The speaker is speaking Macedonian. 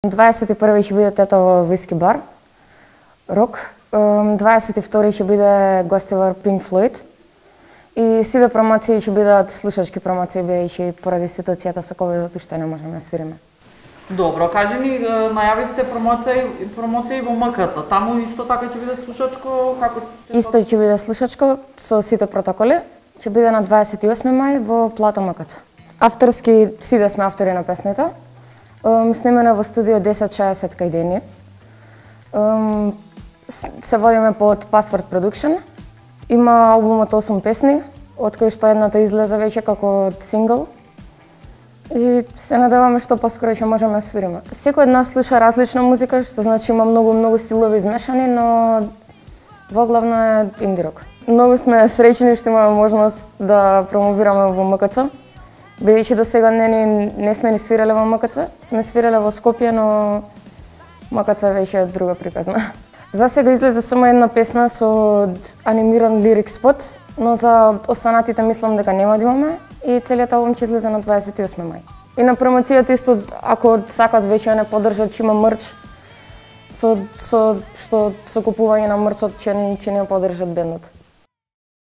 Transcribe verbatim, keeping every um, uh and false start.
дваесет и први ќе биде Тетово виски бар, рок. дваесет и втори ќе биде гостивар Pink Floyd. И сите промоции ќе бидат слушачки промоции, бидејќи поради ситуацијата со ковидот уште не можеме да свириме. Добро, кажи ни, најавивте промоции, промоции во М К Ц. Таму исто така ќе биде слушачко, како ќе... Исто ќе биде слушачко со сите протоколи. Ќе биде на дваесет и осми мај во Плато М К Ц. Авторски, сите сме автори на песните. Снимаме во студио десет шеесет кај Дени. Се водиме под Password Production. Има албумот осум песни, од кои што едната излезе веќе како сингл. И се надеваме што поскоро ќе можеме да свириме. Секој од нас слуша различна музика, што значи има многу многу стилови измешани, но во главно е инди рок. Многу сме среќни што имаме можност да промовираме во М К Ц. Бидејќи до сега не, не, не сме ни свиреле во М К Ц, сме свиреле во Скопје, но М К Ц веќе е друга приказна. За сега излезе само една песна со анимиран лирик спот, но за останатите мислам дека нема да имаме и целиот албум ќе излезе на дваесет и осми мај. И на промоцијата исто, ако сакат веќе не поддржат, ќе има мрч со со што со купување на мрчот ќе ќе не поддржат бендот.